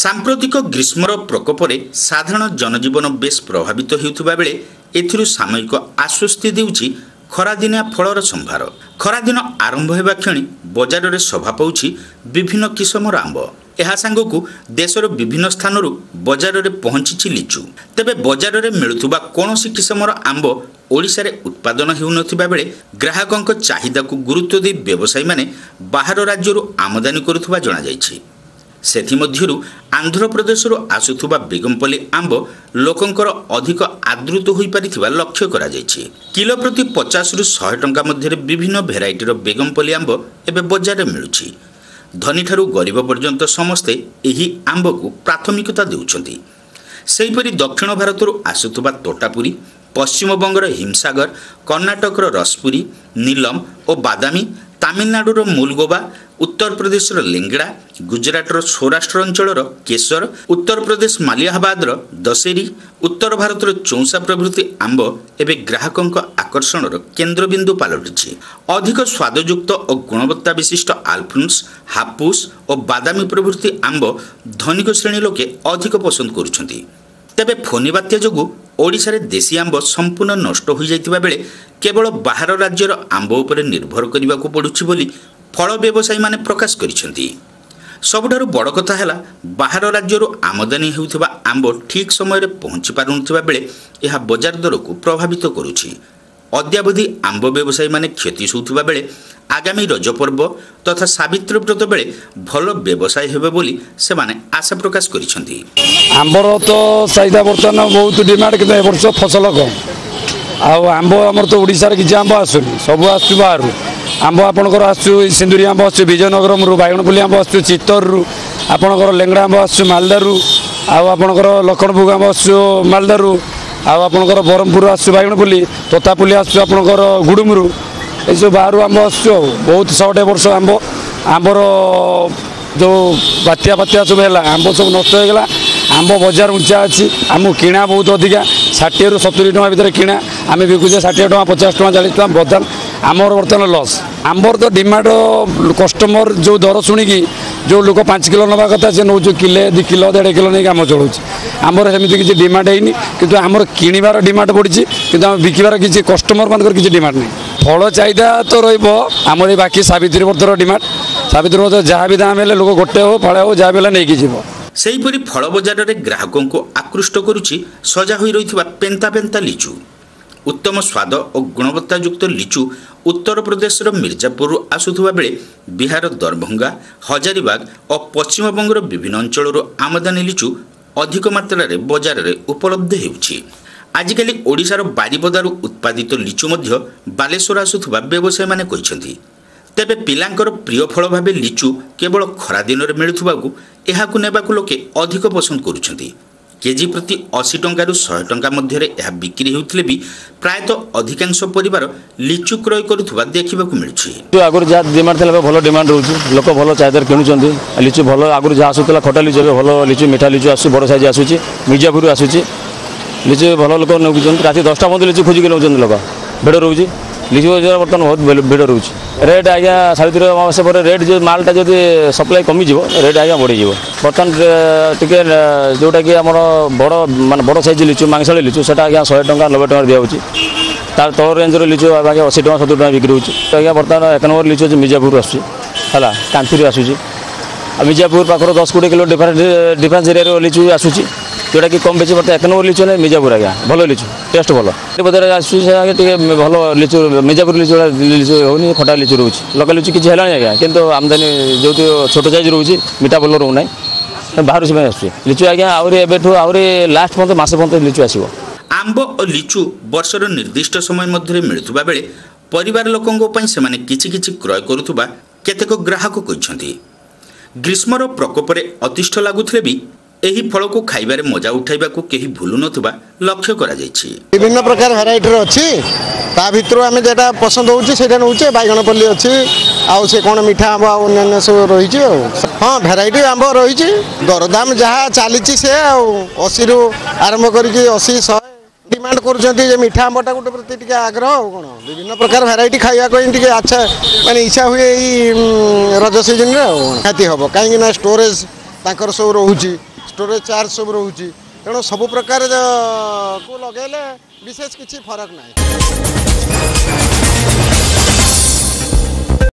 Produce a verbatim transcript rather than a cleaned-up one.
ସାମ୍ପ୍ରତିକ ଗ୍ରୀଷ୍ମର ପ୍ରକୋପରେ ସାଧାରଣ ଜନଜୀବନ ବେଶ୍ ପ୍ରଭାବିତ ହେଉଥିବା ବେଳେ ଏଥିରୁ ସାମୟିକ ଆଶ୍ୱସ୍ତି ଦେଉଛି ଖରାଦିନିଆ ଫଳର ସମ୍ଭାର। ଖରାଦିନ ଆରମ୍ଭ ହେବା କ୍ଷଣି ବଜାରରେ ଶୋଭା ପାଉଛି ବିଭିନ୍ନ କିସମର ଆମ୍ବ। ଏହା ସାଙ୍ଗକୁ ଦେଶର ବିଭିନ୍ନ ସ୍ଥାନରୁ ବଜାରରେ ପହଞ୍ଚିଛି ଲିଚୁ। ତେବେ ବଜାରରେ ମିଳୁଥିବା କୌଣସି କିସମର ଆମ୍ବ ଓଡ଼ିଶାରେ ଉତ୍ପାଦନ ହେଉନଥିବା ବେଳେ ଗ୍ରାହକଙ୍କ ଚାହିଦାକୁ ଗୁରୁତ୍ୱ ଦେଇ ବ୍ୟବସାୟୀମାନେ ବାହାର ରାଜ୍ୟରୁ ଆମଦାନୀ କରୁଥିବା ଜଣାଯାଇଛି। ସେଥିମଧ୍ୟରୁ ଆନ୍ଧ୍ରପ୍ରଦେଶରୁ ଆସୁଥିବା ବେଗମପଲ୍ଲୀ ଆମ୍ବ ଲୋକଙ୍କର ଅଧିକ ଆଦୃତ ହୋଇପାରିଥିବା ଲକ୍ଷ୍ୟ କରାଯାଇଛି। କିଲୋ ପ୍ରତି ପଚାଶରୁ ଶହେ ଟଙ୍କା ମଧ୍ୟରେ ବିଭିନ୍ନ ଭେରାଇଟିର ବେଗମପଲ୍ଲୀ ଆମ୍ବ ଏବେ ବଜାରରେ ମିଳୁଛି। ଧନୀଠାରୁ ଗରିବ ପର୍ଯ୍ୟନ୍ତ ସମସ୍ତେ ଏହି ଆମ୍ବକୁ ପ୍ରାଥମିକତା ଦେଉଛନ୍ତି। ସେହିପରି ଦକ୍ଷିଣ ଭାରତରୁ ଆସୁଥିବା ତୋଟାପୁରୀ, ପଶ୍ଚିମବଙ୍ଗର ହିମସାଗର, କର୍ଣ୍ଣାଟକର ରସପୁରୀ, ନୀଲମ ଓ ବାଦାମୀ, ତାମିଲନାଡୁର ମୁଲଗୋବା, ଉତ୍ତରପ୍ରଦେଶର ଲେଙ୍ଗଡ଼ା, ଗୁଜରାଟର ସୌରାଷ୍ଟ୍ର ଅଞ୍ଚଳର କେଶର, ଉତ୍ତରପ୍ରଦେଶ ମାଲିଆହାବାଦର ଦଶେରୀ, ଉତ୍ତର ଭାରତର ଚୌସା ପ୍ରଭୃତି ଆମ୍ବ ଏବେ ଗ୍ରାହକଙ୍କ ଆକର୍ଷଣର କେନ୍ଦ୍ରବିନ୍ଦୁ ପାଲଟିଛି। ଅଧିକ ସ୍ୱାଦଯୁକ୍ତ ଓ ଗୁଣବତ୍ତା ବିଶିଷ୍ଟ ଆଲଫ୍ରୁନ୍ସ, ହାପୁସ ଓ ବାଦାମୀ ପ୍ରଭୃତି ଆମ୍ବ ଧନିକ ଶ୍ରେଣୀ ଲୋକେ ଅଧିକ ପସନ୍ଦ କରୁଛନ୍ତି। ତେବେ ଫୋନି ବାତ୍ୟା ଯୋଗୁଁ ଓଡ଼ିଶାରେ ଦେଶୀ ଆମ୍ବ ସମ୍ପୂର୍ଣ୍ଣ ନଷ୍ଟ ହୋଇଯାଇଥିବା ବେଳେ କେବଳ ବାହାର ରାଜ୍ୟର ଆମ୍ବ ଉପରେ ନିର୍ଭର କରିବାକୁ ପଡ଼ୁଛି ବୋଲି ଫଳ ବ୍ୟବସାୟୀମାନେ ପ୍ରକାଶ କରିଛନ୍ତି। ସବୁଠାରୁ ବଡ଼ କଥା ହେଲା, ବାହାର ରାଜ୍ୟରୁ ଆମଦାନୀ ହେଉଥିବା ଆମ୍ବ ଠିକ୍ ସମୟରେ ପହଞ୍ଚି ପାରୁନଥିବା ବେଳେ ଏହା ବଜାର ଦରକୁ ପ୍ରଭାବିତ କରୁଛି। ଅଦ୍ୟାବଧି ଆମ୍ବ ବ୍ୟବସାୟୀମାନେ କ୍ଷତି ସହୁଥିବା ବେଳେ ଆଗାମୀ ରଜ ପର୍ବ ତଥା ସାବିତ୍ରୀ ବ୍ରତ ବେଳେ ଭଲ ବ୍ୟବସାୟ ହେବ ବୋଲି ସେମାନେ ଆଶା ପ୍ରକାଶ କରିଛନ୍ତି। ଆମ୍ବର ତ ଚାହିଦା ବର୍ତ୍ତମାନ ବହୁତ ଡିମାଣ୍ଡ, କିନ୍ତୁ ଏ ବର୍ଷ ଫସଲ କମ୍। ଆଉ ଆମ୍ବ ଆମର ତ ଓଡ଼ିଶାରେ କିଛି ଆମ୍ବ ଆସୁନି, ସବୁ ଆସୁଛି ବାହାରୁ। ଆମ୍ବ ଆପଣଙ୍କର ଆସୁଛି ସିନ୍ଦୁରୀ ଆମ୍ବ ଆସୁଛି ବିଜୟନଗରମରୁ, ବାଇଗଣପଲ୍ଲୀ ଆମ୍ବ ଆସୁଛି ଚିତ୍ତରରୁ, ଆପଣଙ୍କର ଲେଙ୍ଗଡ଼ା ଆମ୍ବ ଆସୁଛି ମାଲଦାରୁ, ଆଉ ଆପଣଙ୍କର ଲଖଣଭୋଗ ଆମ୍ବ ଆସୁଛି ମାଲଦାରୁ, ଆଉ ଆପଣଙ୍କର ବ୍ରହ୍ମପୁର ଆସୁଛି ବାଇଗଣପଲ୍ଲୀ, ତୋତାପଲ୍ଲୀ ଆସୁଛି ଆପଣଙ୍କର ଗୁଡ଼ୁମରୁ। ଏସବୁ ବାହାରୁ ଆମ୍ବ ଆସୁଛି। ଆଉ ବହୁତ ସର୍ଟ ଏ ବର୍ଷ ଆମ୍ବ। ଆମ୍ବର ଯେଉଁ ବାତ୍ୟା ଫାତ୍ୟା ସବୁ ହେଲା, ଆମ୍ବ ସବୁ ନଷ୍ଟ ହେଇଗଲା। ଆମ୍ବ ବଜାର ଉଞ୍ଚା ଅଛି, ଆମକୁ କିଣା ବହୁତ ଅଧିକା, ଷାଠିଏରୁ ସତୁରି ଟଙ୍କା ଭିତରେ କିଣା, ଆମେ ବିକୁଛେ ଷାଠିଏ ଟଙ୍କା, ପଚାଶ ଟଙ୍କା, ଚାଳିଶ ଟଙ୍କା। ବର୍ତ୍ତମାନ ଆମର ବର୍ତ୍ତମାନ ଲସ୍। ଆମ୍ବର ତ ଡିମାଣ୍ଡ, କଷ୍ଟମର ଯେଉଁ ଦର ଶୁଣିକି ଯେଉଁ ଲୋକ ପାଞ୍ଚ କିଲୋ ନେବା କଥା, ସେ ନେଉଛି କିଲେ, ଦୁଇ କିଲୋ, ଦେଢ଼ କିଲୋ ନେଇକି କାମ ଚଳାଉଛି। ଆମର ସେମିତି କିଛି ଡିମାଣ୍ଡ ହେଇନି, କିନ୍ତୁ ଆମର କିଣିବାର ଡିମାଣ୍ଡ ବଢ଼ିଛି, କିନ୍ତୁ ଆମେ ବିକିବାର କିଛି କଷ୍ଟମରମାନଙ୍କର କିଛି ଡିମାଣ୍ଡ ନାହିଁ। ଫଳ ଚାହିଦା ତ ରହିବ ଆମର ଏଇ ବାକି ସାବିତ୍ରୀ ବ୍ରତର ଡିମାଣ୍ଡ। ସାବିତ୍ରୀ ବ୍ରତ ଯାହା ବି ଦାମ ହେଲେ ଲୋକ ଗୋଟେ ହଉ, ଫଳ ହଉ, ଯାହା ବି ହେଲେ ନେଇକି ଯିବ। ସେହିପରି ଫଳ ବଜାରରେ ଗ୍ରାହକଙ୍କୁ ଆକୃଷ୍ଟ କରୁଛି ସଜା ହୋଇ ରହିଥିବା ପେନ୍ତା ପେନ୍ତା ଲିଚୁ। ଉତ୍ତମ ସ୍ୱାଦ ଓ ଗୁଣବତ୍ତାଯୁକ୍ତ ଲିଚୁ ଉତ୍ତରପ୍ରଦେଶର ମିର୍ଜାପୁରରୁ ଆସୁଥିବା ବେଳେ ବିହାର ଦରଭଙ୍ଗା, ହଜାରିବାଗ ଓ ପଶ୍ଚିମବଙ୍ଗର ବିଭିନ୍ନ ଅଞ୍ଚଳରୁ ଆମଦାନୀ ଲିଚୁ ଅଧିକ ମାତ୍ରାରେ ବଜାରରେ ଉପଲବ୍ଧ ହେଉଛି। ଆଜିକାଲି ଓଡ଼ିଶାର ବାରିପଦାରୁ ଉତ୍ପାଦିତ ଲିଚୁ ମଧ୍ୟ ବାଲେଶ୍ୱର ଆସୁଥିବା ବ୍ୟବସାୟୀମାନେ କହିଛନ୍ତି। ତେବେ ପିଲାଙ୍କର ପ୍ରିୟ ଫଳ ଭାବେ ଲିଚୁ କେବଳ ଖରାଦିନରେ ମିଳୁଥିବାକୁ ଏହାକୁ ନେବାକୁ ଲୋକେ ଅଧିକ ପସନ୍ଦ କରୁଛନ୍ତି। କେଜି ପ୍ରତି ଅଶୀ ଟଙ୍କାରୁ ଶହେ ଟଙ୍କା ମଧ୍ୟରେ ଏହା ବିକ୍ରି ହେଉଥିଲେ ବି ପ୍ରାୟତଃ ଅଧିକାଂଶ ପରିବାର ଲିଚୁ କ୍ରୟ କରୁଥିବା ଦେଖିବାକୁ ମିଳୁଛି। ଆଗରୁ ଯାହା ଡିମାଣ୍ଡ ଥିଲା, ଏବେ ଭଲ ଡିମାଣ୍ଡ ରହୁଛି। ଲୋକ ଭଲ ଚାହିଦାରେ କିଣୁଛନ୍ତି ଲିଚୁ। ଭଲ ଆଗରୁ ଯାହା ଆସୁଥିଲା ଖଟା ଲିଚୁ, ଏବେ ଭଲ ଲିଚୁ, ମିଠା ଲିଚୁ ଆସୁଛି, ବଡ଼ ସାଇଜ୍ ଆସୁଛି, ମିର୍ଜାପୁରରୁ ଆସୁଛି ଲିଚୁ। ଭଲ ଲୋକ ନେଉଛନ୍ତି। ରାତି ଦଶଟା ପର୍ଯ୍ୟନ୍ତ ଲିଚୁ ଖୋଜିକି ନେଉଛନ୍ତି ଲୋକ। ଭିଡ଼ ରହୁଛି ଲିଚୁ ବଜାର, ବର୍ତ୍ତମାନ ବହୁତ ଭିଡ଼ ରହୁଛି। ରେଟ୍ ଆଜ୍ଞା, ସାବିତ୍ରୀ ଅମାବାସ୍ୟା ପରେ ରେଟ୍ ଯେଉଁ ମାଲଟା ଯଦି ସପ୍ଲାଏ କମିଯିବ, ରେଟ୍ ଆଜ୍ଞା ବଢ଼ିଯିବ। ବର୍ତ୍ତମାନ ଟିକେ ଯେଉଁଟାକି ଆମର ବଡ଼, ମାନେ ବଡ଼ ସାଇଜ୍ ଲିଚୁ, ମାଂସାଳି ଲିଚୁ, ସେଟା ଆଜ୍ଞା ଶହେ ଟଙ୍କା, ନବେ ଟଙ୍କାରେ ଦିଆହେଉଛି। ତାର ତଳ ରେଞ୍ଜର ଲିଚୁ ଆଜ୍ଞା ଅଶୀ ଟଙ୍କା, ସତୁରି ଟଙ୍କା ବିକ୍ରି ହେଉଛି। ଆଜ୍ଞା ବର୍ତ୍ତମାନ ଏକ ନମ୍ବର ଲିଚୁ ଅଛି, ମିର୍ଜାପୁର ଆସୁଛି, ହେଲା କାନ୍ଥିରୁ ଆସୁଛି। ଆଉ ମିର୍ଜାପୁର ପାଖରୁ ଦଶ କୋଡ଼ିଏ କିଲୋ ଡିଫରେନ୍ସ ଡିଫରେନ୍ସ ଏରିଆର ଲିଚୁ ଆସୁଛି, ଯେଉଁଟାକି କମ୍ ବେଶୀ। ବର୍ତ୍ତମାନ ଏକ ନମ୍ବର ଲିଚୁ ନାହିଁ ମିର୍ଜାପୁର ଆଜ୍ଞା, ଭଲ ଲିଚୁ, ଟେଷ୍ଟ ଭଲ। ବଜାରରେ ଆସୁଛି ସେ ଆଜ୍ଞା ଟିକେ ଭଲ ଲିଚୁ। ମିର୍ଜାପୁର ଲିଚୁ ଲିଚୁ ହେଉନି, ଖଟା ଲିଚୁ ରହୁଛି। ଲୋକାଲ ଲିଚୁ କିଛି ହେଲାଣି ଆଜ୍ଞା, କିନ୍ତୁ ଆମଦାନୀ ଯେଉଁଠି ଛୋଟ ସାଇଜ୍ ରହୁଛି, ମିଠା ଭଲ ରହୁନାହିଁ। ବାହାରୁ ସେମାନେ ଆସୁଛି ଲିଚୁ ଆଜ୍ଞା। ଆହୁରି ଏବେଠୁ ଆହୁରି ଲାଷ୍ଟ ପର୍ଯ୍ୟନ୍ତ, ମାସେ ପର୍ଯ୍ୟନ୍ତ ଲିଚୁ ଆସିବ। ଆମ୍ବ ଓ ଲିଚୁ ବର୍ଷର ନିର୍ଦ୍ଦିଷ୍ଟ ସମୟ ମଧ୍ୟରେ ମିଳୁଥିବା ବେଳେ ପରିବାର ଲୋକଙ୍କ ପାଇଁ ସେମାନେ କିଛି କିଛି କ୍ରୟ କରୁଥିବା କେତେକ ଗ୍ରାହକ କହିଛନ୍ତି। ଗ୍ରୀଷ୍ମର ପ୍ରକୋପରେ ଅତିଷ୍ଠ ଲାଗୁଥିଲେ ବି ଏହି ଫଳକୁ ଖାଇବାରେ ମଜା ଉଠାଇବାକୁ କେହି ଭୁଲୁନଥିବା ଲକ୍ଷ୍ୟ କରାଯାଇଛି। ବିଭିନ୍ନ ପ୍ରକାର ଭେରାଇଟିର ଅଛି, ତା ଭିତରୁ ଆମେ ଯେଟା ପସନ୍ଦ ହେଉଛି ସେଇଟା ନେଉଛେ। ବାଇଗଣପଲ୍ଲୀ ଅଛି, ଆଉ ସେ କ'ଣ ମିଠା ଆମ୍ବ, ଆଉ ଅନ୍ୟାନ୍ୟ ସବୁ ରହିଛି। ଆଉ ହଁ, ଭେରାଇଟି ଆମ୍ବ ରହିଛି। ଦରଦାମ ଯାହା ଚାଲିଛି ସେ ଆଉ ଅଶୀରୁ ଆରମ୍ଭ କରିକି ଅଶୀ, ଶହେ ଡିମାଣ୍ଡ କରୁଛନ୍ତି ଯେ ମିଠା ଆମ୍ବଟା ଗୋଟେ ପ୍ରତି ଟିକେ ଆଗ୍ରହ। ଆଉ କ'ଣ, ବିଭିନ୍ନ ପ୍ରକାର ଭେରାଇଟି ଖାଇବାକୁ ହିଁ ଟିକେ ଆଚ୍ଛା, ମାନେ ଇଚ୍ଛା ହୁଏ ଏଇ ରଜ ସିଜନରେ। ଆଉ ନିହାତି ହେବ, କାହିଁକି ନା ଷ୍ଟୋରେଜ୍ ତାଙ୍କର ସବୁ ରହୁଛି। ଷ୍ଟୋରେଜ୍ ଚାର୍ଜ ସବୁ ରହୁଛି। ତେଣୁ ସବୁ ପ୍ରକାର କୁ ଲଗାଇଲେ ବିଶେଷ କିଛି ଫରକ ନାହିଁ।